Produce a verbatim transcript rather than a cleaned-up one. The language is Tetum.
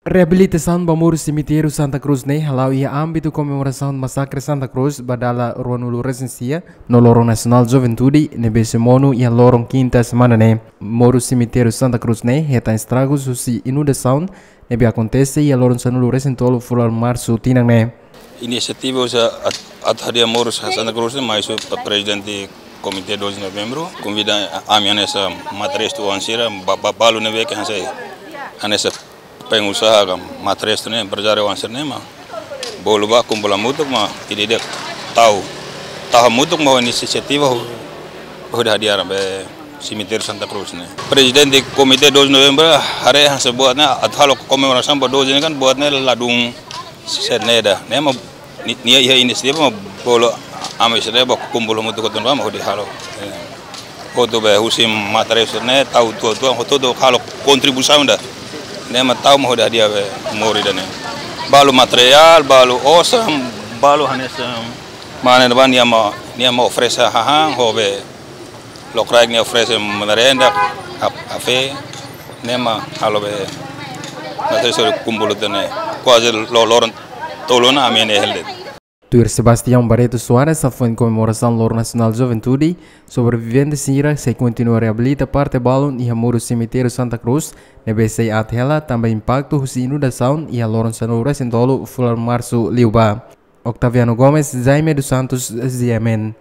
Reabilitasaun ba muru semitériu Santa Cruz ne'e hala'o iha ámbitu komemorasaun masakre Santa Cruz ba dala ruanulu resin sia no loron nasionál juventude ne'ebé sei monu iha loron kinta semana ne'e. Muru semitériu Santa Cruz ne'e hetan estragus husi inundasaun ne'ebé akontese iha loron sanulu resin tolu fulan Marsu tinan ne'e. Inisiativa husi atu hadi'a muru Santa Cruz ne'e mai husi prezidente Komité doze de Novembro konvida ami hanesan matrestu oan sira, ba, ba, balu ne'ebé ke hanesan, hanesan pengusaha ka matrestu ne'e, emprezáriu oan sira ne'e mak bolu bá kumpul hamutuk mak ida-idak tau, tau hamutuk mak inisiativa hodi hadi'a ba semitériu Santa Cruz ne'e. Prezidente Komité doze de Novembro haree hanesan buat ne'e atu halo komemorasaun ba doze ne'e kan buat ne'e ladún sira-ne'e ida. Ne'e mak ni-, nia iha inisiativa mak bolu ami sira-ne'e bá kumpul hamutuk hotu bá mak hodi halo. Eh, hotu be husi matrestu ne'e tau tuan-tuan hotu-hotu halo kontribuisaun ida. Ne'e mak tau mak hodi hadi'a be muru ida-ne'e. Balu materiál, balu osan, balu hanesan mane ne'ebá nia mak, nia mak oferese hahán ho be lokraik nia oferese merenda, kaf-, kafé, ne'e mak halo be matrestu kumpul hotu ne'e. Kuaze lo-, loron tolu ona ami ne'e hela de'it. Tuir Sebastião Barreto Soares, hafoin komemorasaun Loron Nasionál Juventude, sobrevivente sira sei kontinua reabilita parte balun iha muru semitériu Santa Cruz ne'ebé sei aat hela tanba impaktu husi inundasaun iha loron sanulu resin tolu fulan Marsu liubá. Octaviano Gomes, Jaime dos Santos, G M N.